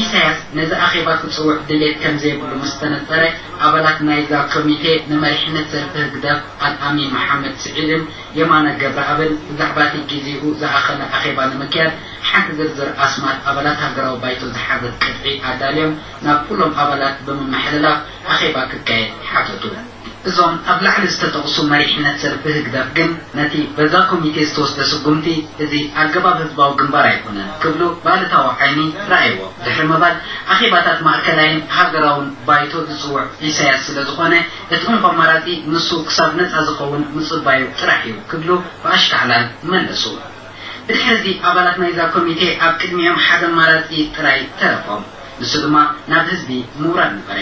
ኢሳያስ ነዚ ኣኼባ ክጽውዕ ድሌት ከም ዘይብሉ ምስ ተነጸረ፣ ኣባላት ናይዛ ኮሚቴ ንመሪሕነት ሰልፊ ህግደፍ ኣልኣሚን መሓመድ ስዒድን የማነ ገብረኣብን ብዛዕባ እቲ ግዜኡ ዝኣኸለ ኣኼባ ንምክያድ ሓንቲ ዝርዝር ኣስማት ኣባላት ሃገራዊ ባይቶ ዝሓዘት ቅጥዒ ኣዳልዮም ናብ ኩሎም ኣባላት ብምምሕልላፍ ኣኼባ ክካየድ ሓተቱ። እዞም ኣብ ላዕሊ ዝተጠቕሱ መሪሕነት ሰልፊ ህግደፍ ግን ነቲ በዛ ኮሚቴ ዝተወስደ ስጉምቲ እዚ ኣገባብ ህዝባዊ ግንባር ኣይኮነን ክብሉ ብኣሉታዊ ዓይኒ ረኣይዎ። ድሕሪ ምባል ኣኼባታት ማእከላይን ሃገራውን ባይቶ ዝጽውዕ ኢሳያስ ስለ ዝኾነ እቲ እንኮ ኣማራጺ ንሱ ክሳብ ነጻ ዝኸውን ምጽባዩ ጥራሕ እዩ ክብሉ ብኣሽካዕላል መለሱ። ብድሕሪ እዚ ኣባላት ናይዛ ኮሚቴ ኣብ ቅድሚኦም ሓደ ኣማራጺ ጥራይ ተረፎም። ንሱ ድማ ናብ ህዝቢ ምውራድ ነበረ።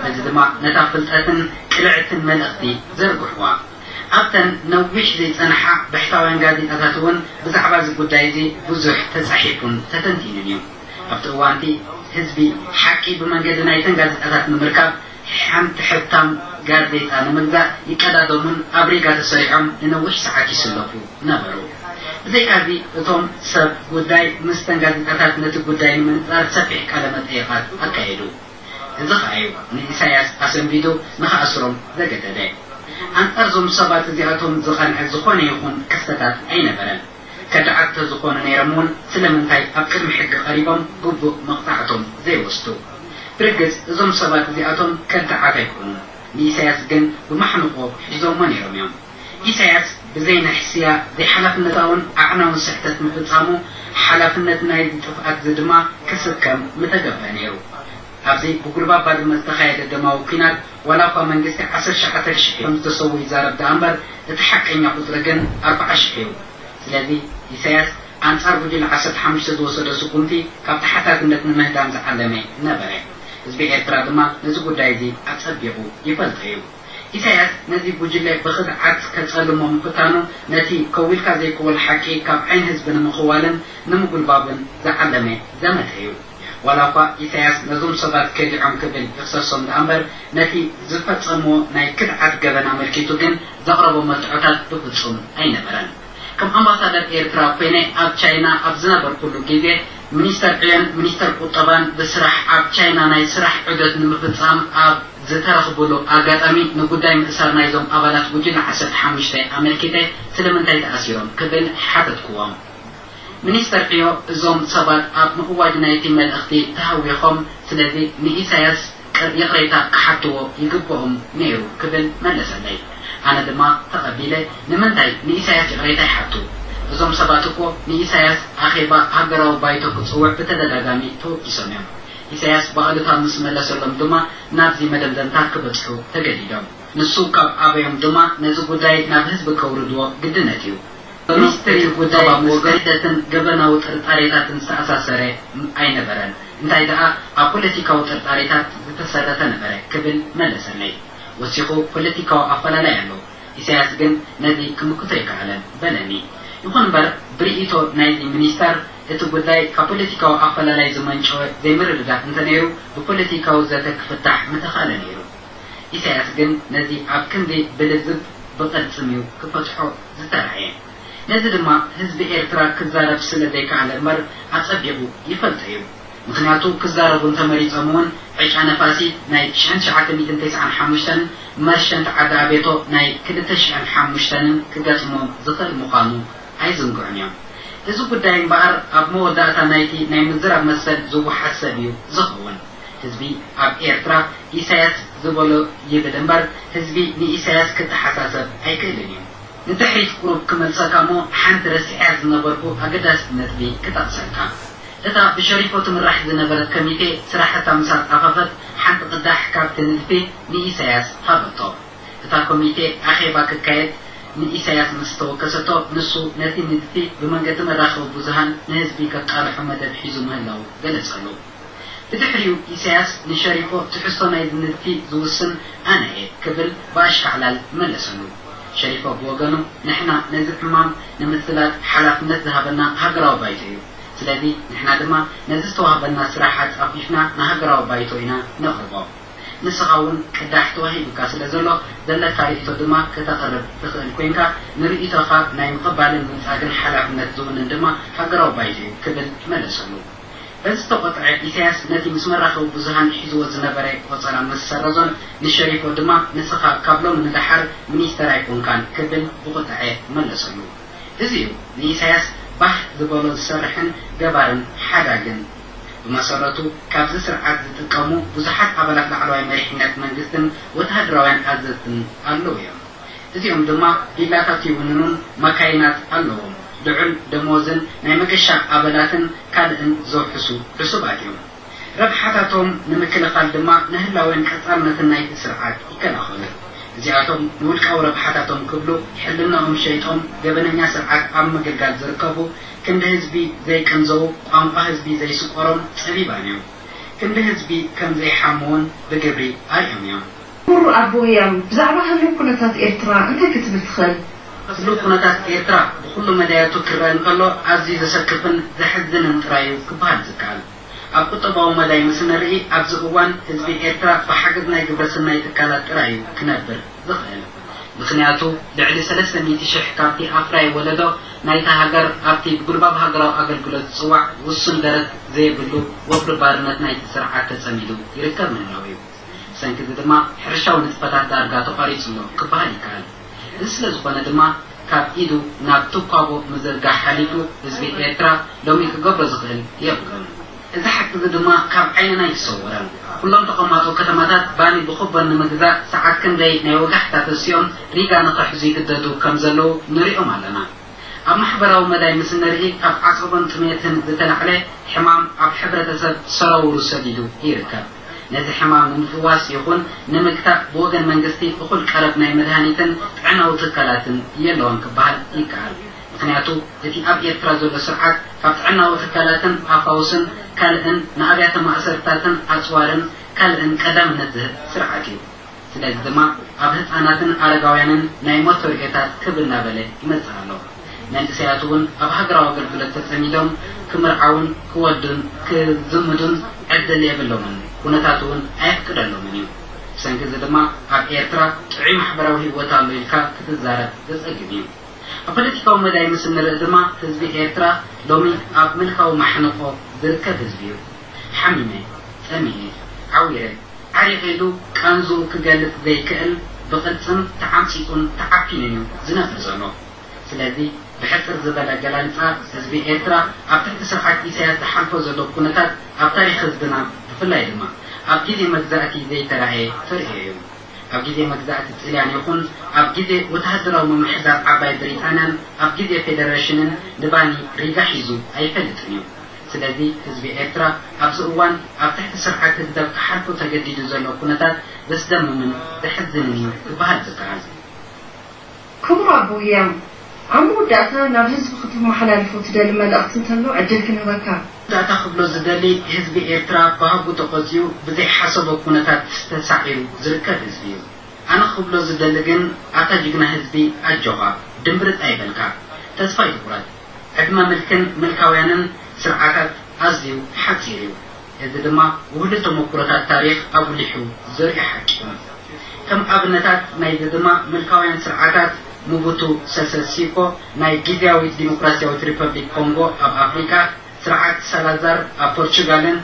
እዚ ድማ ነታ ፍልጠትን ቅልዕትን መልእኽቲ ዘርግሕዋ። ኣብተን ነዊሕ ዘይጸንሓ ብሕታውያን ጋዜጣታት እውን ብዛዕባ እዚ ጉዳይ እዚ ብዙሕ ተጻሒፉን ተተንቲኑን እዩ። ኣብቲ እዋንቲ ህዝቢ ሓቂ ብመንገዲ ናይተን ጋዜጣታት ንምርካብ ሓንቲ ሕታም ጋዜጣ ንምግዛእ ይቀዳደሙን ኣብ ሪጋ ተሰሪዖም ንነዊሕ ሰዓት ይስለፉ ነበሩ። ብዘይካዚ እቶም ሰብ ጉዳይ ምስተን ጋዜጣታት ነቲ ጉዳይ ንምንጻር ሰፊሕ ቃለ መጠይቓት ኣካየዱ። እዚ ኸኣ እዩ ንኢሳያስ ኣሰንቢዱ ንኽኣስሮም ዘገደደ። ኣንጻር እዞም ሰባት እዚኣቶም ዝቐንዐ ዝኾነ ይኹን ክስተታት ኣይነበረን። ከዳዓት ተዝኾኑ ነይሮም እውን ስለምንታይ ኣብ ቅድሚ ሕጊ ቀሪቦም ግቡእ መቕጻዕቶም ዘይወስዱ? ብርግጽ እዞም ሰባት እዚኣቶም ከዳዓት ኣይኮኑን። ንኢሳያስ ግን ብማሕንቖ ሒዞሞ ነይሮም እዮም። ኢሳያስ ብዘይ ንሕስያ ዘይሓላፍነታውን ኣዕናውን ስሕተት ምፍጻሙ ሓላፍነት ናይዚ ጥፍኣት እዚ ድማ ክስከም ምተገብአ ነይሩ። ኣብዚ ብጉልባብ ባድመ ዝተኻየደ ደማዊ ኲናት ዋላ እኳ መንግስቲ ዓሰርተ ትሽዓተ ሽሕ ከም ዝተሰዉ ይዛረብ ደኣ እምበር እቲ ሓቀኛ ቁጽሪ ግን ኣርብዓ ሽሕ እዩ። ስለዚ ኢሳያስ ኣንጻር ጉጅለ ዓሰርተ ሓሙሽተ ዝወሰዶ ስጉምቲ ካብ ተሓታትነት ንምህዳም ዝዓለመ ነበረ። ህዝቢ ኤርትራ ድማ ነዚ ጉዳይ እዚ ኣጸቢቑ ይፈልጦ እዩ። ኢሳያስ ነዚ ጉጅለ ብኽድዓት ከጸልሞ ምፍታኑ ነቲ ከዊልካ ዘይክወል ሓቂ ካብ ዓይኒ ህዝቢ ንምኽዋልን ንምጉልባብን ዝዓለመ ዘመተ እዩ። ዋላ እኳ ኢሳያስ ነዞም ሰባት ከዲዖም ክብል ይኽሰሶም ደኣ እምበር ነቲ ዝፈጸምዎ ናይ ክድዓት ገበን ኣመልኪቱ ግን ዘቕረቦ መርትዖታት ብፍጹም ኣይነበረን። ከም ኣምባሳደር ኤርትራ ኮይነ ኣብ ቻይና ኣብ ዝነበርኩሉ ግዜ ሚኒስተር ዕዮን ሚኒስተር ቁጠባን ብስራሕ ኣብ ቻይና ናይ ስራሕ ዑደት ንምፍጻም ኣብ ዝተረኽብሉ ኣጋጣሚ ንጉዳይ ምእሳር ናይዞም ኣባላት ጉጅለ ዓሰርተ ሓሙሽተ ኣመልኪተ ስለምንታይ ተኣሲሮም ክብል ሓተትክዎም። ሚኒስተር ዕዮ እዞም ሰባት ኣብ ምእዋጅ ናይቲ መልእኽቲ ተሃዊኾም ስለዚ ንኢሳያስ ቅር- ይቕሬታ ክሓትዎ ይግብኦም ነይሩ ክብል መለሰለይ። ኣነ ድማ ተቐቢለ ንምንታይ ንኢሳያስ ይቕሬታ ይሓቱ? እዞም ሰባት እኮ ንኢሳያስ ኣኼባ ሃገራዊ ባይቶ ክጽውዕ ብተደጋጋሚ ተወቂሶም እዮም። ኢሳያስ ብኣሉታ ምስ መለሰሎም ድማ ናብዚ መደምደምታ ክበጽሑ ተገዲዶም። ንሱ ካብ ኣበዮም ድማ ነዚ ጉዳይ ናብ ህዝቢ ከውርድዎ ግድነት እዩ። ሚኒስትሪ ጉዳይ ምስ ክህደትን ገበናዊ ጥርጣሬታትን ዝተኣሳሰረ ኣይነበረን። እንታይ ደኣ ኣብ ፖለቲካዊ ጥርጣሬታት ዝተሰረተ ነበረ ክብል መለሰለይ። ወሲኹ ፖለቲካዊ ኣፈላላይ ኣሎ። ኢሳያስ ግን ነዚ ክምክቶ ኣይከኣለን በለኒ። ይኹን እምበር ብርእይቶ ናይዚ ሚኒስተር እቲ ጉዳይ ካብ ፖለቲካዊ ኣፈላላይ ዝመንጨወ ዘይምርድዳእ እንተነይሩ ብፖለቲካዊ ዘተ ክፍታሕ ምተኻእለ ነይሩ። ኢሳያስ ግን ነዚ ኣብ ክንዲ ብልዝብ ብቕልጽም እዩ ክፈትሖ ዝተራእየ። ነዚ ድማ ህዝቢ ኤርትራ ክዛረብ ስለ ዘይከኣለ እምበር ኣጸቢቑ ይፈልጦ እዩ። ምኽንያቱ ክዛረቡ እንተመሪጾም እውን ዕጫ ነፋሲት ናይ ሽሕን ትሽዓተ ሚእትን ተስዓን ሓሙሽተን መርሸንት ዓዲ ኣቤቶ ናይ ክልተ ሽሕን ሓሙሽተንን ክገጥሞም ዝኽእል ምዃኑ ኣይዝንግዑን እዮም። እዚ ጉዳይ እምበኣር ኣብ መወዳእታ ናይቲ ናይ ምዝራብ መሰል ዝወሓስ ሰብ እዩ ዝኸውን። ህዝቢ ኣብ ኤርትራ ኢሳያስ ዝበሎ ይብል እምበር ህዝቢ ንኢሳያስ ክተሓሳሰብ ኣይክእልን እዩ። ንድሕሪት ቁሩብ ክመልሰካ እሞ ሓንቲ ረሲዐያ ዝነበርኩ ኣገዳሲት ነጥቢ ክጠቕሰልካ። እታ ብሸሪፎ ትምራሕ ዝነበረት ኮሚቴ ስራሕታ ምስ ኣጻፈፈት ሓንቲ ቅዳሕ ካብቲ ንድፊ ንኢሳያስ ሃበቶ። እታ ኮሚቴ ኣኼባ ክካየድ ንኢሳያስ ምስ ተወከሰቶ ንሱ ነቲ ንድፊ ብመንገዲ መራኸቢ ብዙሃን ንህዝቢ ከቃልሖ መደብ ሒዙ ምህላው ገለጸሉ። ብድሕሪኡ ኢሳያስ ንሸሪፎ ትሕዝቶ ናይዚ ንድፊ ዝውስን ኣነ እየ ክብል ብኣሽካዕላል መለሰሉ። ሸሪፎ ብወገኑ ንሕና ነዚ ዕማም ንምስላጥ ሓላፍነት ዝሃበና ሃገራዊ ባይቶ እዩ። ስለዚ ንሕና ድማ ነዚ ዝተዋህበና ስራሕ ኣጻፊፍና ንሃገራዊ ባይቶ ኢና ነቕርቦ። ንስኻ እውን ቅዳሕ ተዋሂቡካ ስለ ዘሎ ዘለካ ርእይቶ ድማ ከተቕርብ ትኽእል ኮይንካ ንርእይቶኻ ናይ ምቕባልን ምንጻግን ሓላፍነት ዝውንን ድማ ሃገራዊ ባይቶ እዩ ክብል መለሰሉ። በዚ ዝተቖጥዐ ኢሳያስ ነቲ ምስ መራኸቢ ብዙሃን ሒዝዎ ዝነበረ ቆጸራ ምስ ሰረዞን ንሸሪፎ ድማ ንስኻ ካብ ሎሚ ንደሓር ሚኒስተር ኣይኮንካን ክብል ብቑጥዐ መለሰሉ። እዚ እዩ ንኢሳያስ ባህ ዝበሎ ዝሰርሕን ገባርን ሓዳግን። ብመሰረቱ ካብዚ ስርዓት ዝጥቀሙ ብዙሓት ኣባላት ላዕለዋይ መሪሕነት መንግስትን ወተሃደራውያን ኣዘዝትን ኣለዉ እዮም። እዚኦም ድማ ቪላታት ይውንኑን መካይናት ኣለዎም። ልዑል ደሞዝን ናይ መገሻ ኣበላትን ካልእን ዘውሕሱ ዕሱባት እዮም። ረብሓታቶም ንምክልኻል ድማ ንህላወን ቀጻልነትን ናይቲ ስርዓት ይከላኸሉ። እዚኣቶም ንውልቃዊ ረብሓታቶም ክብሉ ሕልናኦም ሸይጦም ገበነኛ ስርዓት ኣብ ምግልጋል ዝርከቡ፣ ክንዲ ህዝቢ ዘይቅንዘዉ፣ ቋንቋ ህዝቢ ዘይስቆሮም ጸቢባን እዮም። ክንዲ ህዝቢ ከም ዘይሓምውን ብግብሪ ኣርእዮም እዮም። ክቡር ኣቦ ህያም፣ ብዛዕባ ህሉው ኩነታት ኤርትራ እንታይ ክትብል ትኽእል? ህሉው ኩነታት ኤርትራ ብኹሉ መዳያቱ ክረአ እንከሎ ኣዝዩ ዘሰክፍን ዘሕዝንን ጥራይ እዩ ክበሃል ዝከኣል። ኣብ ቁጠባዊ መዳይ ምስ ንርኢ፣ ኣብዚ እዋን ህዝቢ ኤርትራ ብሓገዝ ናይ ግብረ ሰናይ ትካላት ጥራይ እዩ ክነብር ዝኽእል። ምኽንያቱ፣ ልዕሊ ሰለስተ ሚእቲ ሽሕ ካብቲ ኣፍራይ ወለዶ ናይታ ሃገር ኣብቲ ብጉልባብ ሃገራዊ ኣገልግሎት ዝጽዋዕ ውሱን ደረት ዘየብሉ ወፍሪ ባርነት ናይቲ ስርዓት ተጸሚዱ ይርከብ ምህላው እዩ። ብሰንኪ እዚ ድማ ሕርሻዊ ንጥፈታት ዳርጋ ተቋሪጹ ኣሎ ክበሃል ይከኣል። እዚ ስለ ዝኾነ ድማ ካብ ኢዱ ናብ ትኳቦ ምዝርጋሕ ሓሊፉ ህዝቢ ኤርትራ ሎሚ ክገብሮ ዝኽእል የብሉን። እዚ ሓቂ እዚ ድማ ካብ ዓይንና ኣይተሰወረን። ኩሎም ተቐማጦ ከተማታት ባኒ ብኹቦን ንምግዛእ ሰዓት ክንደይ ናይ ወጋሕታ ተሲኦም ሪጋ ንኽሕዙ ይግደዱ ከም ዘለዉ ንሪኦም ኣለና። ኣብ ማሕበራዊ መዳይ ምስ ንርኢ ካብ ዓጸቦን ጥሜትን ዝተላዕለ ሕማም ኣብ ሕብረተሰብ ሰረውሩ ሰዲዱ ይርከብ። ነዚ ሕማም ንምፍዋስ ይኹን ንምግታእ ብወገን መንግስቲ እኹል ቀረብ ናይ መድሃኒትን ጥዕናዊ ትካላትን የለውን ክበሃል ይከኣል። ምኽንያቱ እቲ ኣብ ኤርትራ ዘሎ ስርዓት ካብ ጥዕናዊ ትካላትን ኣፋውስን ካልእን ንኣብያተ ማእሰርታትን ኣጽዋርን ካልእን ቀዳምነት ዝህብ ስርዓት እዩ። ስለዚ ድማ ኣብ ህጻናትን ኣረጋውያንን ናይ ሞት ተርእዮታት ክብ እናበለ ይመጽእ ኣሎ። መንእሰያት እውን ኣብ ሃገራዊ ኣገልግሎት ተጸሚዶም ክምርዓውን ክወልዱን ክዝምዱን ዕድል የብሎምን፣ ኩነታት እውን ኣየፍቅደሎምን እዩ። ብሰንኪ እዚ ድማ ኣብ ኤርትራ ጥዑይ ማሕበራዊ ህይወት ኣሎ ኢልካ ክትዛረብ ዘጸግም እዩ። ኣብ ፖለቲካዊ መዳይ ምስ እንርኢ ድማ ህዝቢ ኤርትራ ሎሚ ኣብ ምልካዊ ማሕንቆ ዝርከብ ህዝቢ እዩ። ሓሚመ፣ ጸሚኤ፣ ዓዊረ፣ ዓሪቐ ኢሉ ቃንዝኡ ክገልጽ ዘይክእል ብቕርጽን ተዓምጺጹን ተዓፊኑን እዩ ዝነብር ዘሎ። ስለዚ ብሕጽር ዝበለ ኣገላልጻ ህዝቢ ኤርትራ ኣብ ትሕቲ ስርዓት ኢሳያስ ዝሓልፎ ዘሎ ኩነታት ኣብ ታሪኽ ህዝብና ብፍላይ ድማ ኣብ ግዜ መግዛእቲ ዘይተራእየ ተርእዮ እዩ። ኣብ ግዜ መግዛእቲ ጥልያን ይኹን ኣብ ግዜ ወተሃደራዊ ምምሕዳር ዓባይ ብሪጣንያን ኣብ ግዜ ፌደረሽንን ንባኒ ሪጋ ሒዙ ኣይፈልጥን እዩ። ስለዚ ህዝቢ ኤርትራ ኣብዚ እዋን ኣብ ትሕቲ ስርዓት ህግደፍ ክሓልፎ ተገዲዱ ዘሎ ኩነታት ዘስደምምን ዘሕዝንን እዩ ክበሃል ዝከኣል። ክቡር ኣቦ ህያም፣ ኣብ መወዳእታ ናብ ህዝቢ ክተመሓላልፎ ትደሊ መልእኽቲ እንተሎ ዕድል ክንህበካ። መወዳእታ ክብሎ ዝደሊ ህዝቢ ኤርትራ ባህጉ ተቖጽዩ ብዘይሓሰቦ ኩነታት ተሳዒሩ ዝርከብ ህዝቢ እዩ። ኣነ ክብሎ ዝደሊ ግን ኣታ ጅግና ህዝቢ ኣጆኻ፣ ድምብርጽ ኣይበልካ፣ ተስፋ ኣይትቑረጽ። ዕድመ ምልክን ምልካውያንን ስርዓታት ኣዝዩ ሓጺር እዩ። እዚ ድማ ውህሉል ተመኩሮታት ታሪኽ ኣጉሊሑ ዘርኢ ሓቂ እዩ። ከም ኣብነታት ናይዚ ድማ ምልካውያን ስርዓታት ሙቡቱ ሰሰ ሲኮ ናይ ግዝያዊት ዲሞክራሲያዊት ሪፐብሊክ ኮንጎ ኣብ ኣፍሪቃ፣ ስርዓት ሳላዛር ኣብ ፖርቹጋልን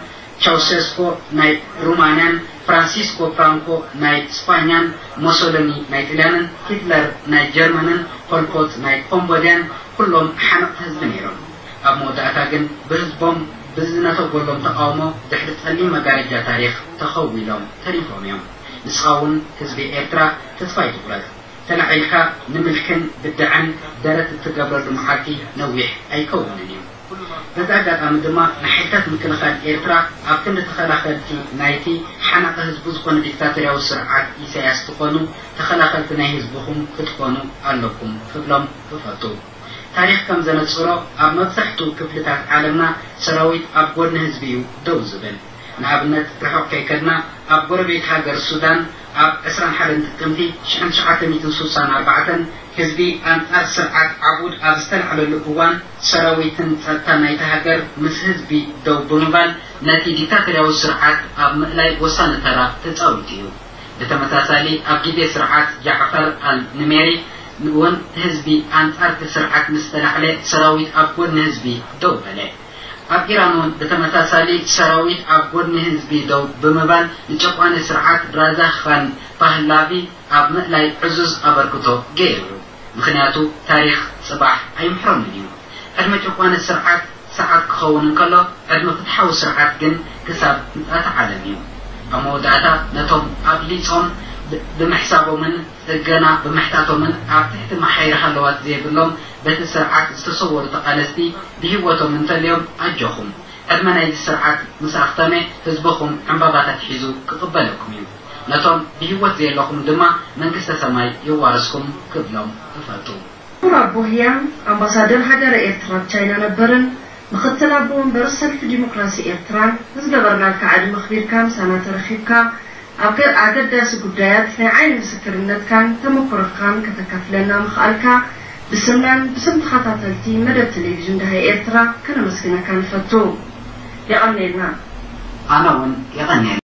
ቻውሴስኮ ናይ ሩማንያን ፍራንሲስኮ ፍራንኮ ናይ ስፓኛን ሞሶሎኒ ናይ ጥልያንን ሂትለር ናይ ጀርመንን ፖልፖት ናይ ኮምቦድያን ኩሎም ሓነቕቲ ህዝቢ ነይሮም። ኣብ መወዳእታ ግን ብህዝቦም ብዝነተጎሎም ተቓውሞ ድሕሪ ጸሊም መጋረጃ ታሪኽ ተኸዊሎም ተሪፎም እዮም። ንስኻ እውን ህዝቢ ኤርትራ ተስፋ ኣይትቑረጽ። ተላዒልካ ንምልክን ብድዐን ደረት እትገብረሉ መዓልቲ ነዊሕ ኣይከውንን እዩ። በዚ ኣጋጣሚ ድማ ንሓይልታት ምክልኻል ኤርትራ ኣብ ክንዲ ተኸላኸልቲ ናይቲ ሓናቒ ህዝቡ ዝኾነ ዲክታቶርያዊ ስርዓት ኢሳያስ ትኾኑ ተኸላኸልቲ ናይ ህዝብኹም ክትኾኑ ኣለኩም ክብሎም እፈቱ። ታሪኽ ከም ዘነጽሮ ኣብ መብዛሕትኡ ክፍልታት ዓለምና ሰራዊት ኣብ ጎድኒ ህዝቢ እዩ ደው ዝብል። ንኣብነት ርሑቕ ከይከድና ኣብ ጎረቤት ሃገር ሱዳን ኣብ ዕስራን ሓደን ጥቅምቲ ሽሕን ትሽዓተ ሚእትን ስሳን ኣርባዕተን ህዝቢ ኣንጻር ስርዓት ዓቡድ ኣብ ዝተላዕለሉ እዋን ሰራዊትን ጸጥታን ናይቲ ሃገር ምስ ህዝቢ ደው ብምባል ነቲ ዲክታቶርያዊ ስርዓት ኣብ ምእላይ ወሳኒ ተራ ተጻዊቱ እዩ። ብተመሳሳሊ ኣብ ግዜ ስርዓት ጃዕፈር ኣል ንሜሪ እውን ህዝቢ ኣንጻርቲ ስርዓት ምስ ተላዕለ ሰራዊት ኣብ ጎድኒ ህዝቢ ደው በለ። ኣብ ኢራን እውን ብተመሳሳሊ ሰራዊት ኣብ ጎድኒ ህዝቢ ደው ብምባል ንጨቋኒ ስርዓት ራዛ ኻን ፓህላቪ ኣብ ምእላይ ዕዙዝ ኣበርክቶ ገይሩ እዩ። ምኽንያቱ ታሪኽ ጽባሕ ኣይምሕረሉን እዩ። ዕድመ ጨቋኒ ስርዓት ሰዓት ክኸውን እንከሎ ዕድመ ፍትሓዊ ስርዓት ግን ክሳብ ምጽኣተ ዓለም እዩ። ኣብ መወዳእታ ነቶም ኣብሊጾም ብምሕሳቦምን ጽገና ብምሕታቶምን ኣብ ትሕቲ መሓይር ሃለዋት ዘይብሎም በቲ ስርዓት ዝተሰወሩ ተቓለስቲ ብህይወቶም እንተልዮም ኣጆኹም። ዕድመ ናይዚ ስርዓት ምስ ኣኽተመ ህዝብኹም ዕምባባታት ሒዙ ክቕበለኩም እዩ። ነቶም ብህይወት ዘየለኹም ድማ መንግስተ ሰማይ የዋርስኩም ክብሎም እፈቱ። ክቡር ኣቦ ህያም ኣምባሳደር ሃገረ ኤርትራ ኣብ ቻይና ነበርን ምኽትል ኣቦ ወንበር ሰልፊ ዲሞክራሲ ኤርትራን ንዝገበርናልካ ዓዲ መኽቢርካ ምሳና ተረኺብካ ኣብ ገ- ኣገዳሲ ጉዳያት ናይ ዓይኒ ምስክርነትካን ተመኩሮኻን ከተካፍለና ምኽኣልካ ብስምናን ብስም ተኸታተልቲ መደብ ቴሌቪዥን ደሃይ ኤርትራ ከነመስግነካ ንፈቱ። የቐንየልና። ኣነ እውን የቐንየልና።